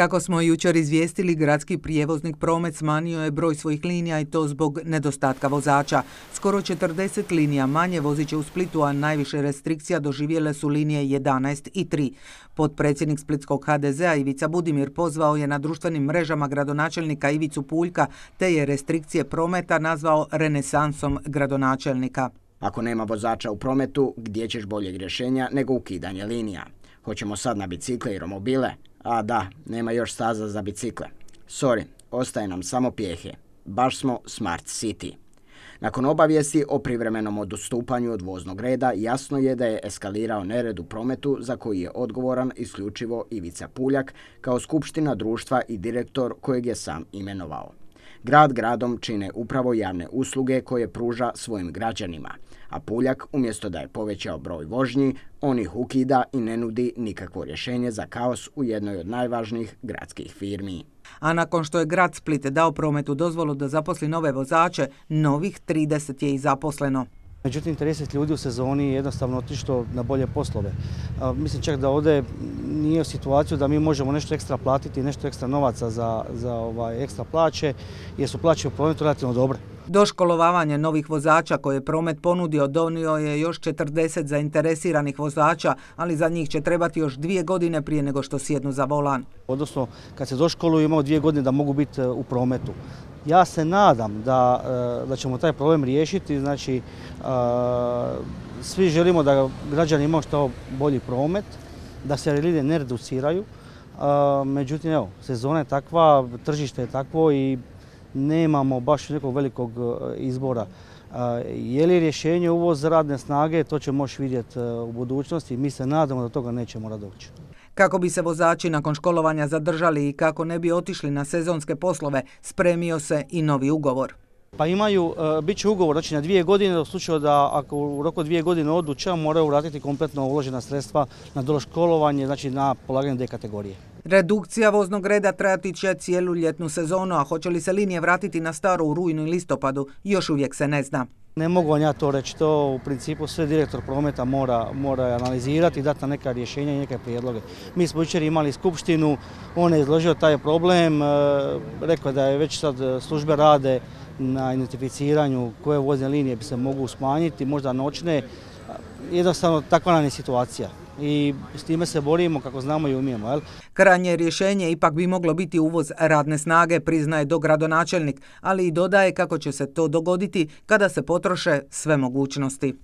Kako smo jučer izvijestili, gradski prijevoznik Promet smanjio je broj svojih linija i to zbog nedostatka vozača. Skoro 40 linija manje vozit će u Splitu, a najviše restrikcija doživjele su linije 11 i 3. Potpredsjednik splitskog HDZ-a Ivica Budimir pozvao je na društvenim mrežama gradonačelnika Ivicu Puljka te je restrikcije prometa nazvao renesansom gradonačelnika. Ako nema vozača u prometu, gdje ćeš boljeg rješenja nego ukidanje linija? Hoćemo sad na bicikle i romobile? A da, nema još staza za bicikle. Sorry, ostaje nam samo pjehe. Baš smo Smart City. Nakon obavijesti o privremenom odustupanju od voznog reda, jasno je da je eskalirao nered u prometu za koji je odgovoran isključivo Ivica Puljak kao skupština društva i direktor kojeg je sam imenovao. Grad gradom čine upravo javne usluge koje pruža svojim građanima, a Puljak umjesto da je povećao broj vožnji, on ih ukida i ne nudi nikakvo rješenje za kaos u jednoj od najvažnijih gradskih firmi. A nakon što je grad Split dao Prometu dozvolu da zaposli nove vozače, novih 30 je i zaposleno. Međutim, 30 ljudi u sezoni je jednostavno otišlo na bolje poslove. Mislim čak da ovdje nije u situaciju da mi možemo nešto ekstra platiti, nešto ekstra novaca za ekstra plaće, jer su plaće u prometu relativno dobre. Doškolovavanje novih vozača koje je Promet ponudio donio je još 40 zainteresiranih vozača, ali za njih će trebati još 2 godine prije nego što sjednu za volan. Odnosno, kad se doškoluju imamo 2 godine da mogu biti u prometu. Ja se nadam da ćemo taj problem riješiti, znači svi želimo da građani imaju što bolji promet, da se linije ne reduciraju, međutim evo, sezona je takva, tržište je takvo i nemamo baš nekog velikog izbora. Je li rješenje uvoz radne snage, to ćemo moći vidjeti u budućnosti i mi se nadamo da toga nećemo doći. Kako bi se vozači nakon školovanja zadržali i kako ne bi otišli na sezonske poslove, spremio se i novi ugovor. Pa bit će ugovor znači na 2 godine, u slučaju da ako u roku 2 godine odu moraju vratiti kompletno uložena sredstva na doškolovanje, znači na polaganje D kategorije. Redukcija voznog reda trajati će cijelu ljetnu sezonu, a hoće li se linije vratiti na staro u rujnu i listopadu, još uvijek se ne zna. Ne mogu vam ja to reći, to u principu sve direktor prometa mora analizirati i dati na neka rješenja i neke prijedloge. Mi smo jučer imali skupštinu, on je izložio taj problem, rekao da je već sad službe rade na identificiranju koje vozne linije bi se mogu smanjiti, možda noćne. Jednostavno takva nam je situacija i s time se borimo kako znamo i umijemo. Krajnje rješenje ipak bi moglo biti uvoz radne snage, priznaje dogradonačelnik, ali i dodaje kako će se to dogoditi kada se potroše sve mogućnosti.